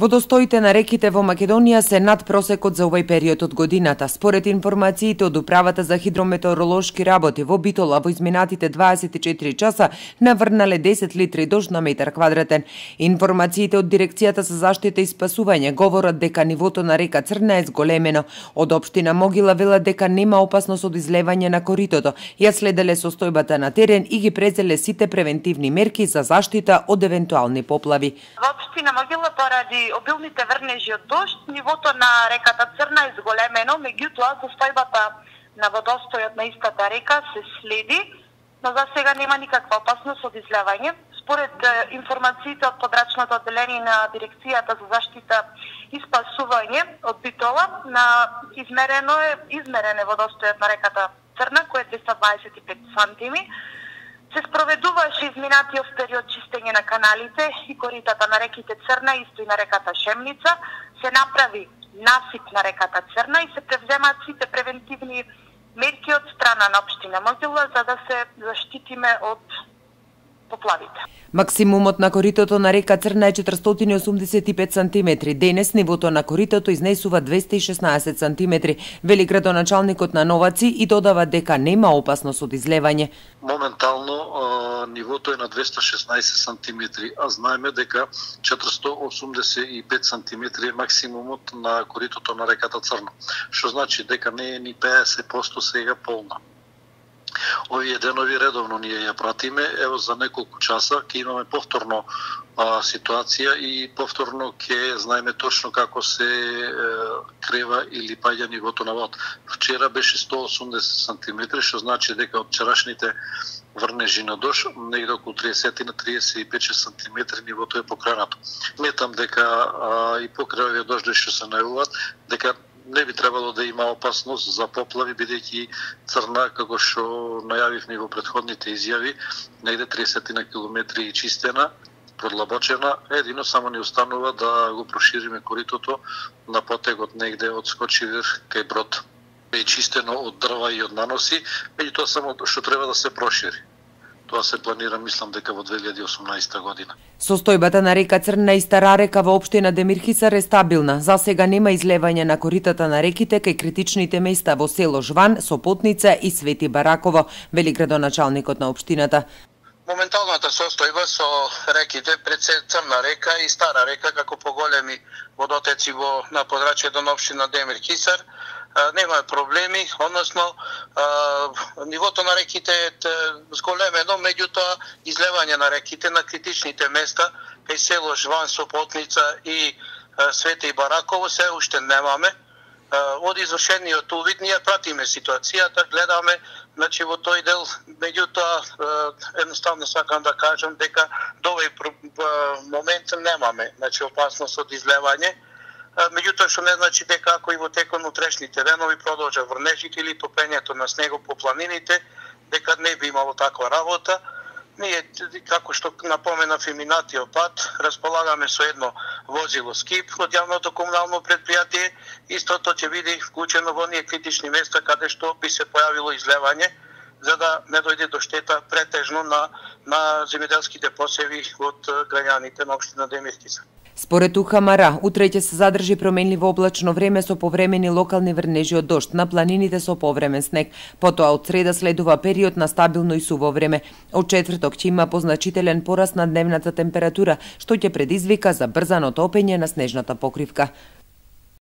Водостоите на реките во Македонија се над просекот за овој период од годината. Според информациите од Управата за хидрометеоролошки работи во Битола во изминатите 24 часа наврнале 10 литри дожд на метар квадратен. Информациите од Дирекцијата за заштита и спасување говорат дека нивото на река Црна е зголемено. Од општина Могила велат дека нема опасност од излевање на коритото. Ја следеле состојбата на терен и ги презеле сите превентивни мерки за заштита од евентуални поплави. Во општина Могила поради обилните врнежи од дожд, нивото на реката Црна е зголемено, меѓутоа состојбата на водостојот на истата река се следи, но за сега нема никаква опасност од излевање. Според информациите од подрачното одделение на Дирекцијата за заштита и спасување од Битола, измерен е водостојот на реката Црна, кој е 225 сантими. Се спроведуваше изминатиот период чистење на каналите и коритата на реките Црна, исто и на реката Шемница. Се направи насип на реката Црна и се превземаат сите превентивни мерки од страна на општина Могила за да се заштитиме од поплавите. Максимумот на коритото на река Црна е 485 сантиметри. Денес нивото на коритото изнесува 216 сантиметри, вели градоначалникот на Новаци и додава дека нема опасност од излевање. Моментално нивото е на 216 сантиметри, а знаеме дека 485 сантиметри е максимумот на коритото на реката Црна, што значи дека не е ни 50% сега полна. Овие денови редовно ние ја пратиме, ево за неколку часа ќе имаме повторно ситуација и повторно ќе знаеме точно како се крева или паѓа нивото на вод. Вчера беше 180 см, што значи дека од вчерашните врнежи на дожд, негде околу 30 на 35 см нивото е покренато. Сметам дека и покрај овие дожди што се најавуваат, дека не би требало да има опасност за поплави, бидејќи Црна, како што најавивме во претходните изјави, негде 30 на километри и чистена, продлабочена, едино само ни останува да го прошириме коритото на потегот негде од Скочивир кај Брод. Е чистено од дрва и од наноси, меѓутоа само што треба да се прошири. Тоа се планира, мислам, дека во 2018 година. Состојбата на река Црна и Стара река во општина Демирхисар е стабилна. За сега нема излевање на коритата на реките кај критичните места во село Жван, Сопотница и Свети Бараково, вели градоначалникот на општината. Моменталната состојба со реките пред Црна река и Стара река како поголеми водотеци на подрачјето на општина Демирхисар нема проблеми, односно нивото на реките е зголемено, меѓутоа излевање на реките на критичните места кај село Жван, Сопотница и Свети Бараково се уште немаме. Од извршениот увид ние пратиме ситуацијата, гледаме, значи во тој дел, меѓутоа едноставно сакам да кажам дека до овој момент немаме, значи опасност од излевање. Меѓутоа што не значи дека ако и во текот на утрешните денови продолжа врнежите или топењето на снегот по планините, дека не би имало таква работа. Ние, како што напоменав и минатиот пат, располагаме со едно возило скип од јавното комунално предпријатие. Истото ќе биде вклучено во оние критични места каде што би се појавило излевање, за да не дојде до штета претежно на земјоделските посеви од граѓаните на општина Демирхисар. Според УХМР, утре ќе се задржи променливо облачно време со повремени локални врнежи од дожд, на планините со повремен снег. Потоа од среда следува период на стабилно и суво време. Од четврток ќе има позначителен пораст на дневната температура, што ќе предизвика забрзано топење на снежната покривка.